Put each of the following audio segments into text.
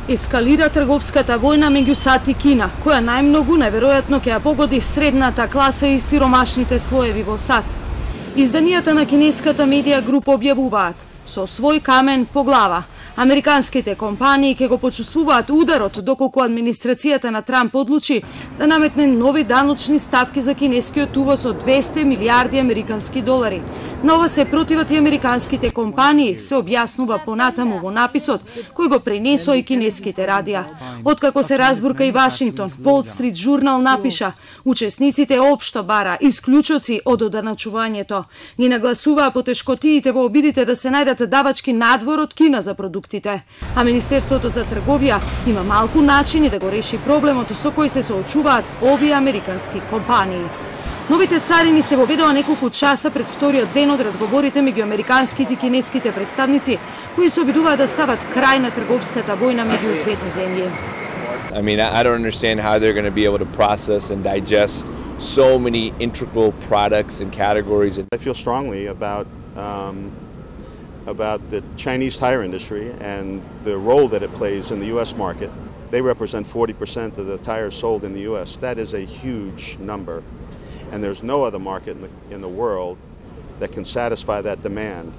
Ескалира трговската војна меѓу САД и Кина, која најмногу најверојатно ќе ја погоди средната класа и сиромашните слоеви во САД. Изданијата на кинеската медија група објавуваат: со свој камен по глава, американските компании ќе го почувствуваат ударот доколку администрацијата на Трамп одлучи да наметне нови даночни ставки за кинескиот увоз од 200 милиарди американски долари. На ова се противат и американските компании, се објаснува понатаму во написот кој го пренесоа и кинеските радија. Откако се разбурка и Вашингтон, Wall Street Journal напиша: учесниците општо бара исклучоци од оданачувањето. Ги нагласуваа потешкотиите во обидите да се најдат давачки надвор од Кина за продуктите. А Министерството за трговија има малку начини да го реши проблемот со кој се соочуваат овие американски компании. Новите царини се воведоа неколку часа пред вториот ден од разговорите меѓу американските и кинеските представници, кои се обидуваат да стават крај на трговската војна меѓу двете земји. I mean, I don't understand how they're going to be able to process and digest so many integral products and categories. I feel strongly about the Chinese tire industry and the role that it plays in the U.S. market. They represent 40% of the tires sold in the U.S. That is a huge number. And there's no other market in the world that can satisfy that demand.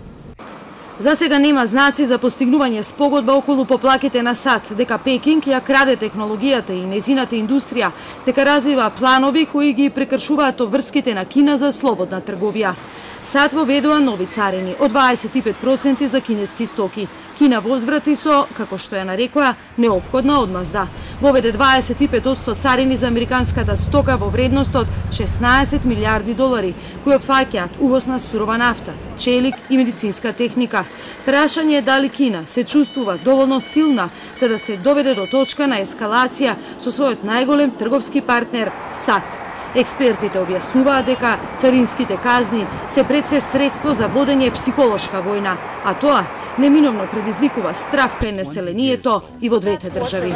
За сега нема знаци за постигнување спогодба околу поплаките на САД, дека Пекинг ја краде технологијата и незината индустрија, дека развива планови кои ги прекршуваат обврските на Кина за слободна трговија. САД воведува нови царини од 25% за кинески стоки. Кина возврати со, како што ја нарекоа, неопходна одмазда. Воведе 25% царини за американската стока во вредност од 16 милиарди долари, кои опфаќаат увоз на сурова нафта, челик и медицинска техника. Прашање е дали Кина се чувствува доволно силна за да се доведе до точка на ескалација со својот најголем трговски партнер САД. Експертите објаснуваат дека царинските казни се пред се средство за водење психолошка војна, а тоа неминовно предизвикува страв кај населението и во двете држави.